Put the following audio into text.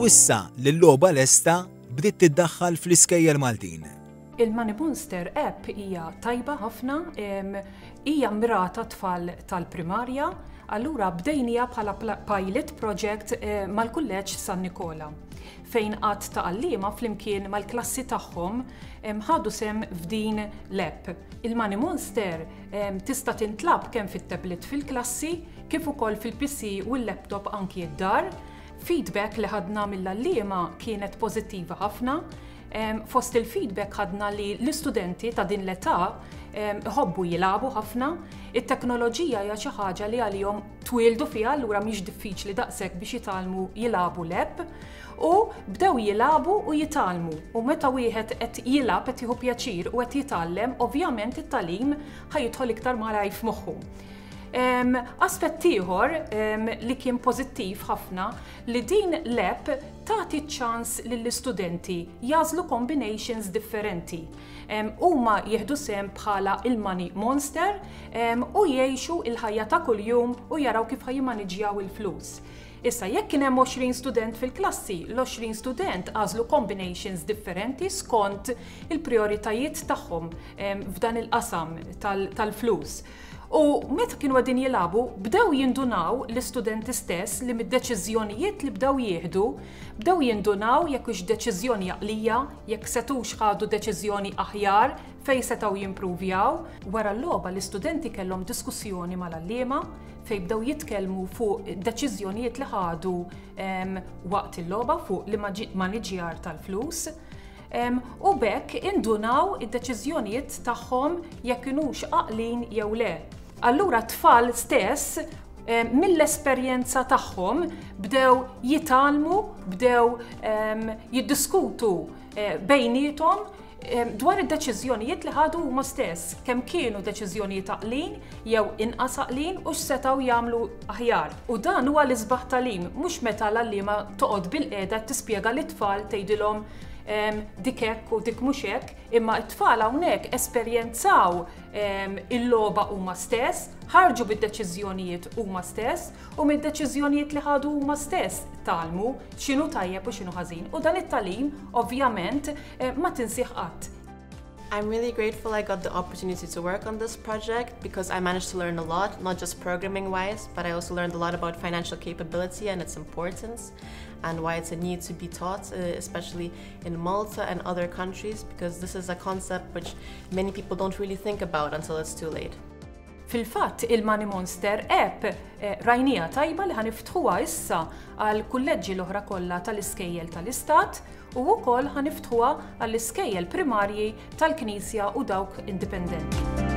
U issa li l-logħba lesta bdiet tiddaħħal fl-iskejjel Maltin. Il-Money Monster app hija tajba ħafna, hija mmirata tfal tal-primarja, allura bdejnija bħala pilot project eh, mal-Kulleġġ San Nikola fejn għadd ta' għalliema flimkien mal-klassi tagħhom ħadu sehem f'din l-app. Il-Money Monster tista' tintlagħab kemm fit-tablet fil-klassi kif ukoll fil-PC u l-laptop anki d-dar. Feedback li ħadna mill-għalliema kienet pożittiva ħafna. Fost il-feedback ħadna li l-istudenti ta' din l-età iħobbu jilagħbu ħafna. It-teknoloġija hija xi ħaġa li għalihom twieldu fiha allura mhix diffiċli daqshekk biex jitgħallmu jilagħbu l-app. U bdew jilagħbu u jitgħallmu. U meta wieħed qed jilgħab qed jieħu pjaċir u qed jitgħallem, ovvjament it-tagħlim ħa jidħol iktar malajr f'moħħu. Aspett ieħor li kien pożittiv ħafna li din l-app tagħti ċ-ċans lill-istudenti jagħżlu combinations differenti. Huma jieħdu sehem bħala il-money monster u jgħixu il-ħajja ta' kuljum u jaraw kif ħa jimmaniġġjaw il-flus. Issa, jekk kien hemm 20 student fil-klassi, l-20 student għażlu combinations differenti skont il-prijoritajiet tagħhom f'dan il-qasam tal-flus. U meta kienu qegħdin jilagħbu, bdew jindunaw l-istudenti stess li mid-deċiżjonijiet li bdew jieħdu, bdew jindunaw jekk hux deċiżjoni għaqlija, jekk setgħux ħadu deċiżjoni aħjar, fejn setgħu jimpruvjaw. Wara l-logħba l-istudenti kellhom diskussjoni mal-għalliema fejn bdew jitkellmu fuq deċiżjonijiet li ħadu waqt il-logħba fuq l-immaniġjar tal-flus. U b'hekk indunaw id-deċiżjonijiet tagħhom jekk kinux għaqlin jew le. Allura t-tfal stess mill-esperjenza tagħhom bdew jitgħallmu, bdew jiddiskutu eh, bejniethom dwar id-deċiżjonijiet li ħadu huma stess, kemm kienu deċiżjonijiet għaqlin jew inqas għaqlin u x'setgħu jagħmlu aħjar. U dan huwa l-isbaħ tagħlim, mhux meta l-għalliema toqgħod bilqiegħda tispjega lit-tfal tgħidilhom dik hekk u dik mhux hekk, imma t-tfal hawnhekk esperjenzaw il-logħba huma stess, ħarġu bid-deċiżjonijiet huma stess u mid-deċiżjonijiet li ħadu huma stess tgħallmu x'inhu tajjeb u x'inhu ħażin. U dan it-tagħlim ovvjament eh, ma tinsih qatt. I'm really grateful I got the opportunity to work on this project because I managed to learn a lot, not just programming wise, but I also learned a lot about financial capability and its importance and why it's a need to be taught, uh, especially in Malta and other countries, because this is a concept which many people don't really think about until it's too late. Fil-fatt, il-Money Monster app eh, rajnija tajba li ħa niftħuha issa għal kulleġġi l-oħra kollha tal-iskejjel tal-istat u wkoll ħa niftħuha għall-iskejjel primarji tal-Knisja u dawk indipendenti.